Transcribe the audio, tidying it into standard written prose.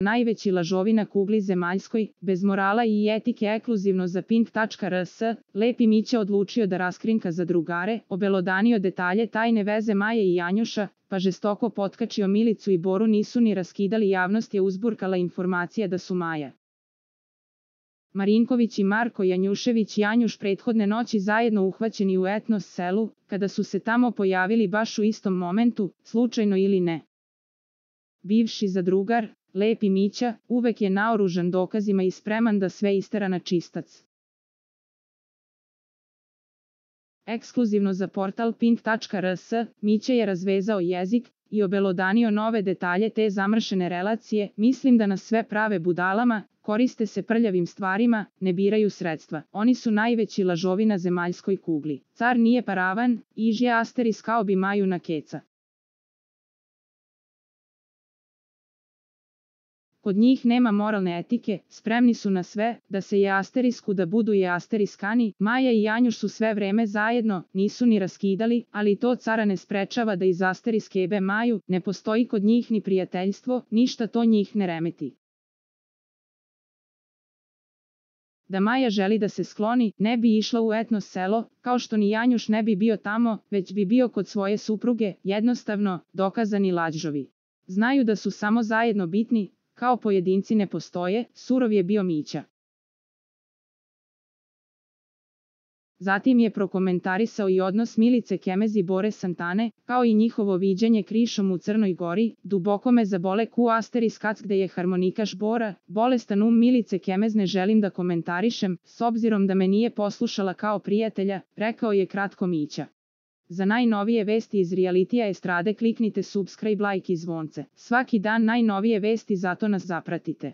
najveći lažovi na kugli zemaljskoj, bez morala i etike ekskluzivno za Pink.rs, Lepi Mića odlučio da raskrinka za drugare, obelodanio detalje tajne veze Maje i Janjuša, pa žestoko potkačio Milicu i Boru nisu ni raskidali, javnost je uzburkala informacija da su Maja Marinković i Marko Janjušević Janjuš prethodne noći zajedno uhvaćeni u etnos selu, kada su se tamo pojavili baš u istom momentu, slučajno ili ne. Bivši zadrugar, Lepi Mića, uvek je naoružan dokazima i spreman da sve istera na čistac. Ekskluzivno za portal Pink.rs, Mića je razvezao jezik i obelodanio nove detalje te zamršene relacije. Mislim da nas sve prave budalama, koriste se prljavim stvarima, ne biraju sredstva. Oni su najveći lažovi na zemaljskoj kugli. Car nije paravan, ižje Asteris kao bi Maju na keca. Kod njih nema moralne etike, spremni su na sve, da se je asterisku da budu je asteriskani. Maja i Janjuš su sve vreme zajedno, nisu ni raskidali, ali to cara ne sprečava da iz asteriske jebe Maju, ne postoji kod njih ni prijateljstvo, ništa to njih ne remeti. Da Maja želi da se skloni, ne bi išla u etnos selo, kao što ni Janjuš ne bi bio tamo, već bi bio kod svoje supruge, jednostavno, dokazani lažovi. Znaju da su samo zajedno bitni, kao pojedinci ne postoje, surov je bio Mića. Zatim je prokomentarisao i odnos Milice Kemez i Bore Santane, kao i njihovo viđenje krišom u Crnoj Gori. Duboko me zabole ku asteriskac gde je harmonikaš Bora, bolestan Milice Kemez ne želim da komentarišem, s obzirom da me nije poslušala kao prijatelja, rekao je kratko Mića. Za najnovije vesti iz realitija estrade kliknite subscribe, like i zvonce. Svaki dan najnovije vesti, zato nas zapratite.